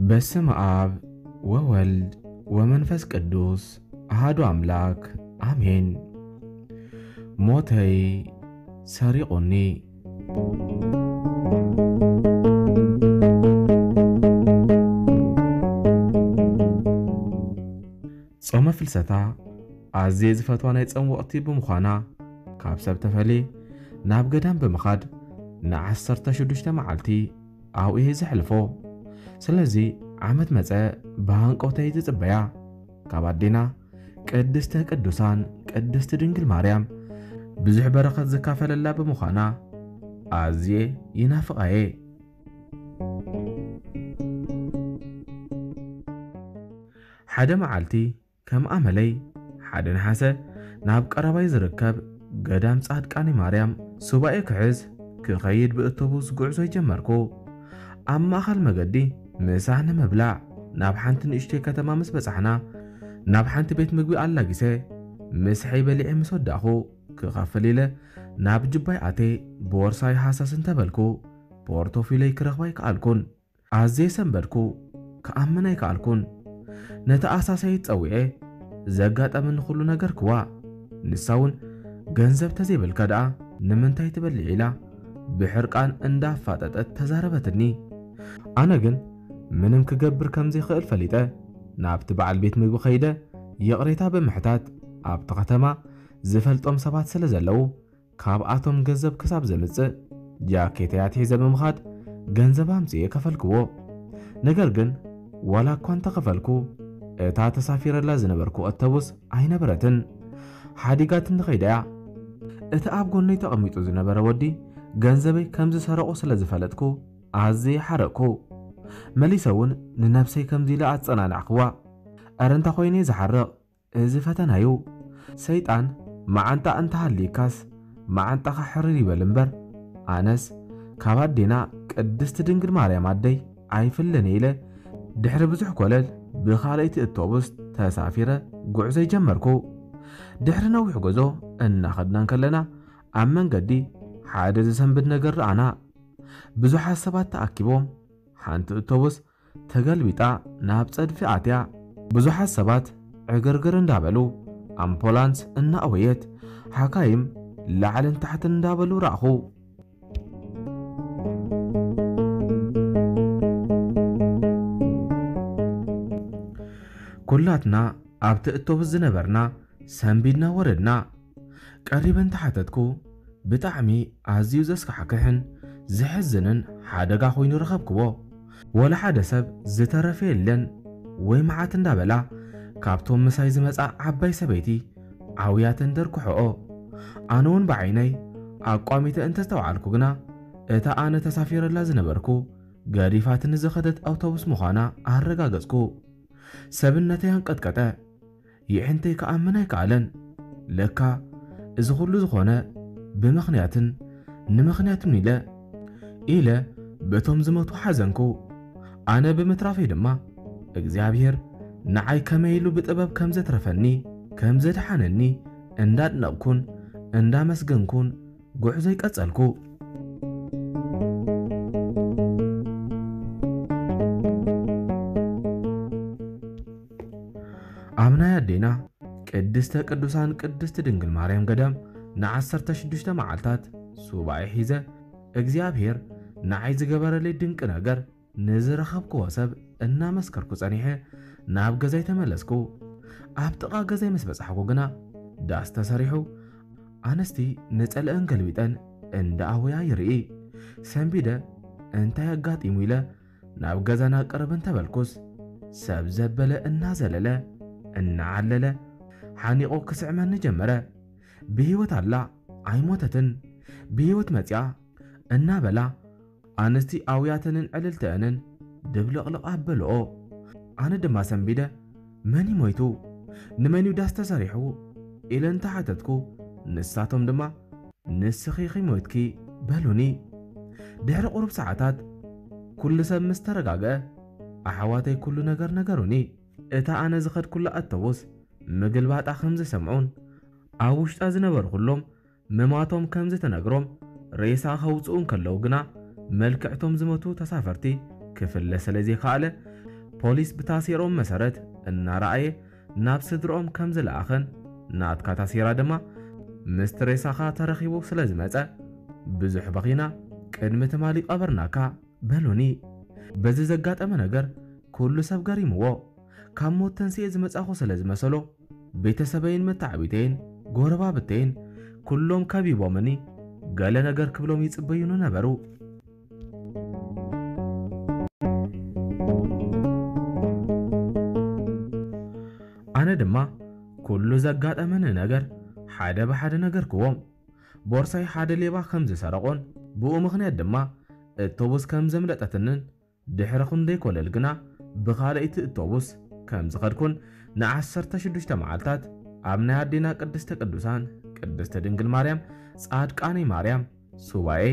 በስመ አብ ወወልድ ወመንፈስ ቅዱስ አሐዱ አምላክ አሜን። ሞተይ ሰሪቑኒ። ጾመ ፍልሰታ ኣዝየ ዝፈትዋ ናይ ጾም ወቕቲ ብምዃና፣ ካብ ሰብ ተፈልየ ናብ ገዳም ብምኻድ ንዓሰርተ ሽዱሽተ መዓልቲ ኣብኡ እየ ዘሕልፎ። ስለዚ ዓመት መጸ ብሃንቀውታ እየ ዝጽበያ። ካብ ኣዴና ቅድስተ ቅዱሳን ቅድስቲ ድንግል ማርያም ብዙሕ በረኸት ዝካፈለላ ብምዃና ኣዝየ ይናፍቓ እየ። ሓደ መዓልቲ ከም ኣመለይ ሓደ ነሓሰ ናብ ቀረባይ ዝርከብ ገዳም ጻድቃኒ ማርያም ሱባኤ ክሕዝ ክኸይድ ብእቶቡስ ጉዕዞ ጀመርኩ። ኣብ ማእኸል መገዲ ምሳሕ ንምብላዕ ናብ ሓንቲ ንእሽተይ ከተማ ምስ በጻሕና፣ ናብ ሓንቲ ቤት ምግቢ ኣላጊሰ ምሳሐይ በሊዐ ምስ ወዳእኹ፣ ክኸፍል ኢለ ናብ ጅባይ ኣትየ ቦርሳይ ሃሰስ እንተበልኩ፣ ፖርቶፊለይ ክረኽባ ኣይከኣልኩን። ኣዝየ ሰንበድኩ፣ ክኣምን ኣይከኣልኩን። ነቲ ኣሳሳይት ጸዊዐ፣ ዘጋጠመኒ ኩሉ ነገርክዋ። ንሳ እውን፣ "ገንዘብ ተዘይብልካ ደኣ ንምንታይ ትበልዕ?" ኢላ ብሕርቃን እንዳፋጠጠት ተዛረበትኒ። ኣነ ግን ምንም ክገብር ከም ዘይክእል ፈሊጠ፣ ናብቲ በዓል ቤት ምግቢ ከይደ ይቕሬታ ብምሕታት፣ ኣብቲ ከተማ ዝፈልጦም ሰባት ስለ ዘለዉ፣ ካብኣቶም ገንዘብ ክሳብ ዘምጽእ ጃኬተይ ኣትሒዘ ብምኻድ ገንዘብ ኣምጽኤ ከፈልክዎ። ነገር ግን ዋላ እኳ እንተኸፈልኩ፣ እታ ተሳፊረላ ዝነበርኩ ኣተቡስ ኣይነበረትን። ሓዲጋትኒ ከይዳ እያ። እቲ ኣብ ጎነይ ተቐሚጡ ዝነበረ ወዲ ገንዘበይ ከም ዝሰረቑ ስለ ዝፈለጥኩ ኣዝየ ሓረቕኩ። መሊሰ እውን ንነብሰይ ከምዚ ኢለ ኣጸናናዕክዋ። "ኣረ እንታይ ኮይነ ዝሓርቕ? እዚ ፈተናዩ። ሰይጣን መዓንጣ እንተሃልይካስ መዓንጣኻ ሕርር ይበል እምበር፣ ኣነስ ካብ ኣዴና ቅድስቲ ድንግል ማርያም ኣደይ ኣይፍልን" ኢለ ድሕሪ ብዙሕ ኮለል ብኻልኣይቲ እቶቡስ ተሳፊረ ጉዕዞ ጀመርኩ። ድሕሪ ነዊሕ ጉዕዞ እናኸድና እንከለና ኣብ መንገዲ ሓደ ዝሰንብድ ነገር ረኣና። ብዙሓት ሰባት ተኣኪቦም ሓንቲ እቶቡስ ተገልቢጣ ናብ ጸድፊ ኣትያ። ብዙሓት ሰባት ዕግርግር እንዳበሉ፣ ኣምፖላንስ እናኣወየት፣ ሓካይም ላዕልን ታሕትን እንዳበሉ ረኣኹ። ኩላትና ኣብቲ እቶብስ ዝነበርና ሰንቢድና ወረድና። ቀሪበ እንተሓተትኩ፣ ብጣዕሚ ኣዝዩ ዘስካሕክሕን ዘሕዝንን ሓደጋ ኮይኑ ረኸብክዎ። ወላ ሓደ ሰብ ዝተረፈ የለን ወይ መዓት እንዳበላ፣ ካብቶም ምሳይ ዝመጻ ዓባይ ሰበይቲ ዓውያተን ደርኩሐኦ። ኣነ እውን ብዓይነይ ኣቋሚተ እንተስተውዓልኩ ግና፣ እታ ኣነ ተሳፊረላ ዝነበርኩ ገዲፋትኒ ዝኸደት ኣውቶቡስ ምዃና ኣረጋገጽኩ። ሰብነተይ ኣንቀጥቀጠ። የዕንተይ ክኣምን ኣይከኣለን። ለካ እዚ ኩሉ ዝኾነ ብምኽንያትን ንምኽንያትን ኢለ፣ ኢለ በቶም ዝሞቱ ሓዘንኩ። ኣነ ብምትራፈይ ድማ እግዚኣብሔር ንዓይ ከመይ ኢሉ ብጥበብ ከም ዘትረፈኒ፣ ከም ዘድሓነኒ እንዳድነቕኩን እንዳመስገንኩን ጉዕዞይ ቀጸልኩ። ኣብ ናይ ኣዴና ቅድስተ ቅዱሳን ቅድስቲ ድንግል ማርያም ገዳም ንዓሰርተ ሽዱሽተ መዓልታት ሱባኤ ሒዘ፣ እግዚኣብሔር ንዓይ ዝገበረለይ ድንቂ ነገር ንዝረኸብክዎ ሰብ እናመስከርኩ ጸኒሐ ናብ ገዛይ ተመለስኩ። ኣብ ጥቓ ገዛይ ምስ በጻሕኩ ግና ዳስ ተሰሪሑ፣ ኣንስቲ ነጸለአን ገልቢጠን እንዳኣወያ ይርኢ። ሰንቢደ፣ እንታይ ኣጋጢሙ ኢለ ናብ ገዛና ቅርብ እንተበልኩስ፣ ሰብ ዘበለ እናዘለለ፣ እናዓለለ፣ ሓኒቑ ክስዕመኒ ጀመረ። "ብህይወት ኣላ፣ ኣይሞተትን፣ ብህይወት መጺኣ" እናበላ፣ ኣንስቲ ኣውያተንን ዕልልተአንን ድብልቕልቕ ኣበልኦ። ኣነ ድማ ሰንቢደ፣ "መን እዩ ሞይቱ? ንመን እዩ ዳስ ተሰሪሑ?" ኢለ እንተሓተትኩ፣ ንሳቶም ድማ፣ "ንስኺ ኢኺ ሞይትኪ" በሉኒ። ድሕሪ ቁሩብ ሰዓታት፣ ኩሉ ሰብ ምስ ተረጋግአ፣ ኣሕዋተይ ኩሉ ነገር ነገሩኒ። እታ ኣነ ዝኸድኩላ ኣተቡስ ምግልባጣ ከም ዝሰምዑን ኣብ ውሽጣ ዝነበሩ ኩሎም ምማቶም ከም ዝተነግሮም፣ ሬሳ ከውፅኡ እንከለዉ ግና መልክዕቶም ዝመቱ ተሳፈርቲ ክፍለ ስለ ዘይከኣለ፣ ፖሊስ ብታሴሮም መሰረት እናረኣየ ናብ ስድርኦም ከም ዝለኣኸን፣ ናትካ ታሴራ ድማ ምስቲ ሬሳኻ ተረኺቡ ስለ ዝመጸ፣ ብዙሕ በኺና፣ ቅድሚ ትማሊ ቀበርናካ በሉኒ። በዚ ዘጋጠመ ነገር ኩሉ ሰብ ገሪምዎ። ካብ ሞት ተንስኤ ዝመጻኹ ስለ ዝመሰሎ፣ ቤተሰበይን መተዓቢተይን ጎረባብተይን ኩሎም ከቢቦምኒ፣ ገለ ነገር ክብሎም ይጽበዩኒ ነበሩ። ኣነ ድማ ኩሉ ዘጋጠመኒ ነገር ሓደ ብሓደ ነገርክዎም። ቦርሳይ ሓደ ሌባ ከም ዝሰረቆን ብኡ ምኽንያት ድማ እቶቡስ ከም ዘምለጠትንን ድሕሪ ክንደይ ኮለል ግና ብኻልእቲ እቶቡስ ከም ዝኸድኩን ንዓሰርተ ሽዱሽተ መዓልታት ኣብ ናይ ኣዴና ቅድስተ ቅዱሳን ቅድስተ ድንግል ማርያም ጻድቃነይ ማርያም ሱባኤ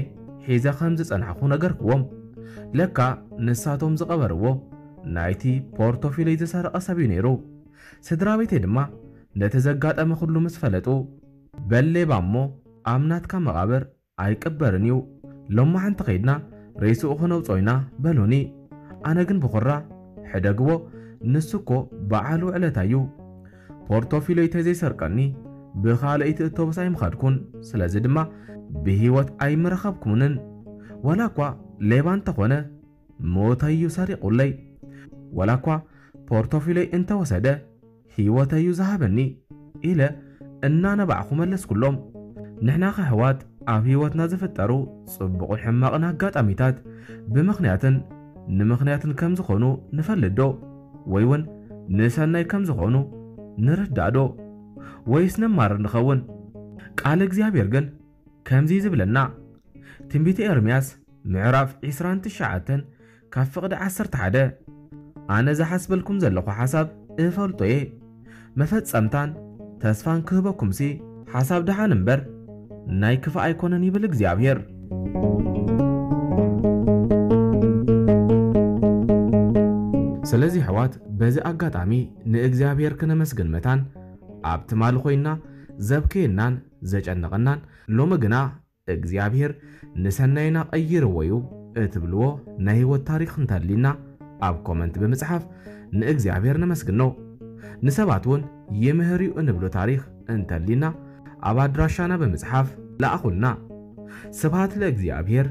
ሒዘ ከም ዝጸናሕኩ ነገርክዎም። ለካ ንሳቶም ዝቐበርዎ ናይቲ ፖርቶፊለይ ዝሰረቐ ሰብ እዩ ነይሩ። ስድራ ቤተይ ድማ ነቲ ዘጋጠመ ኩሉ ምስ ፈለጡ፣ በል ሌባ እሞ ኣብ ናትካ መቓብር ኣይቅበርን እዩ። ሎማሓንቲ ከይድና ሬስኡ ክነውፅኦ ኢና በሉኒ። ኣነ ግን ብኹራ ሕደግዎ፣ ንሱ እኮ በዓል ውዕለታ እዩ። ፖርቶፊሎይ ተዘይሰርቀኒ ብኻልእቲ እቶብስ ኣይምኸድኩን። ስለዚ ድማ ብህይወት ኣይምረኸብኩንን። ዋላ እኳ ሌባ እንተኾነ ሞተይ እዩ ሰሪቑለይ። ዋላ እኳ ፖርቶፊሎይ እንተወሰደ ህይወተይ እዩ ዝሃበኒ ኢለ እናነባዕኹ መለስኩሎም። ንሕና ከሕዋት ኣብ ህይወትና ዝፍጠሩ ጽቡቕን ሕማቕን ኣጋጣሚታት ብምኽንያትን ንምኽንያትን ከም ዝኾኑ ንፈልጥ ዶ? ወይ እውን ንሰናይ ከም ዝኾኑ ንርዳእ ዶ? ወይስ ነማርር ንኸውን? ቃል እግዚኣብሔር ግን ከምዚ ዝብለና፣ ትንቢተ ኤርምያስ ምዕራፍ ዕስራን ትሽዓተን ካብ ፍቕዲ ዓሰርተ ሓደ፣ ኣነ ዝሓስበልኩም ዘለኹ ሓሳብ እፈልጦ እየ፣ መፈጸምታን ተስፋን ክህበኩምሲ ሓሳብ ደሓን እምበር ናይ ክፋእ ኣይኮነን ይብል እግዚኣብሔር። ስለዚ ኣሕዋት በዚ ኣጋጣሚ ንእግዚኣብሔር ክነመስግን መታን ኣብ ትማሊ ኮይና ዘብከየናን ዘጨነቐናን ሎሚ ግና እግዚኣብሔር ንሰናይና ቀይርዎ እዩ እትብልዎ ናይ ህይወት ታሪኽ እንተሊና ኣብ ኮመንት ብምጽሓፍ ንእግዚኣብሔር ነመስግኖ። ንሰባት እውን ይምህር እዩ እንብሎ ታሪኽ እንተሊና ኣብ ኣድራሻና ብምጽሓፍ ለኣኹልና። ስብሃት ለእግዚኣብሔር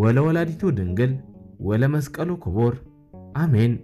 ወለወላዲቱ ድንግል ወለመስቀሉ ክቡር። ኣሜን።